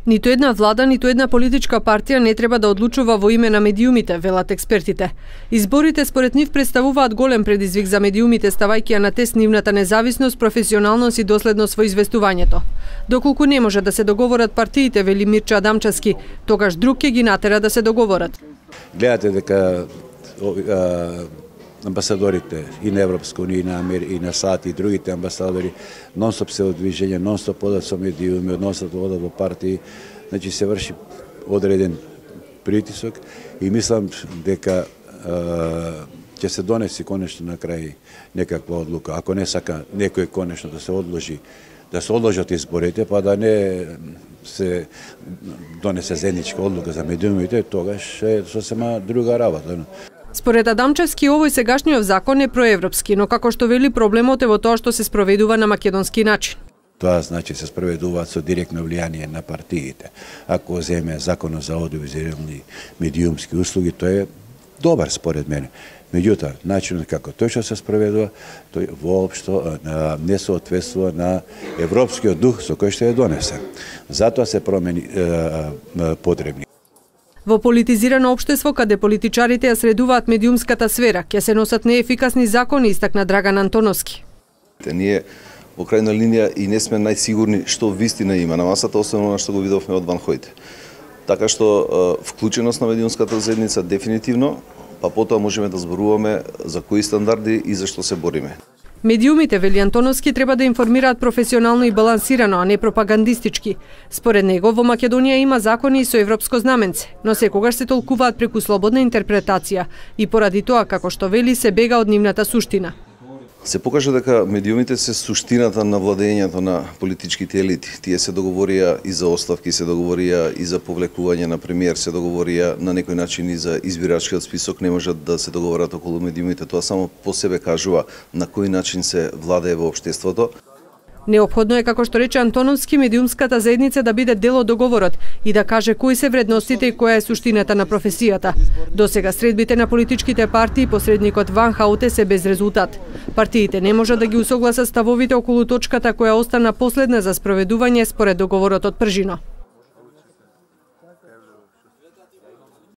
Ниту една влада, ниту една политичка партија не треба да одлучува во име на медиумите, велат експертите. Изборите според нив представуваат голем предизвик за медиумите, ставајќи ја на тест нивната независност, професионалност и доследност во известувањето. Доколку не може да се договорат партиите, вели Мирчо Адамчевски, тогаш друг ќе ги натера да се договорат. Гледате дека амбасадорите и на Европска унија, и на САД и другите амбасадори нон-стоп се одвижење, нон-стоп одат со медиуми, нон-стоп одат во партии, значи се врши одреден притисок и мислам дека ќе се донеси конечно на крај некаква одлука. Ако не сака некој конечно да се одложат изборите, па да не се донесе заедничка одлука за медиумите, тогаш е сосема друга работа. Според Адамчевски, овој сегашниот закон е проевропски, но како што вели проблемот е во тоа што се спроведува на македонски начин. Тоа значи се спроведуваат со директно влијание на партиите. Ако земе законот за аудиовизуелни медиумски услуги, тоа е добар според мене. Меѓутоа, начинот како тој што се спроведува, тој воопшто не соодветствува на европскиот дух со кој што е донесен. Затоа се промени потребни. Во политизирано општество, каде политичарите ја средуваат медиумската сфера, ќе се носат неефикасни закони, истакна Драган Антоновски. Ние во крајна линија и не сме најсигурни што вистина има на масата, освен она што го видовме од Ван Хојте. Така што вклученост на медиумската заедница дефинитивно, па потоа можеме да зборуваме за кои стандарди и за што се бориме. Медиумите, вели Антоновски, треба да информираат професионално и балансирано, а не пропагандистички. Според него, во Македонија има закони и со европско знаменце, но секогаш се толкуваат преку слободна интерпретација и поради тоа, како што вели, се бега од нивната суштина. Се покажа дека медиумите се суштината на владењето на политичките елити. Тие се договорија и за оставки, се договорија и за повлекување на премиер, се договорија на некој начин и за избирачкиот список, не можат да се договорат околу медиумите. Тоа само по себе кажува на кој начин се владее во општеството. Неопходно е, како што рече Антоновски, медиумската заедница да биде дел од договорот и да каже кои се вредностите и која е суштината на професијата. Досега средбите на политичките партии и посредникот Ван Хауте се без резултат. Партиите не можат да ги усогласат ставовите околу точката која остана последна за спроведување според договорот од Пржино.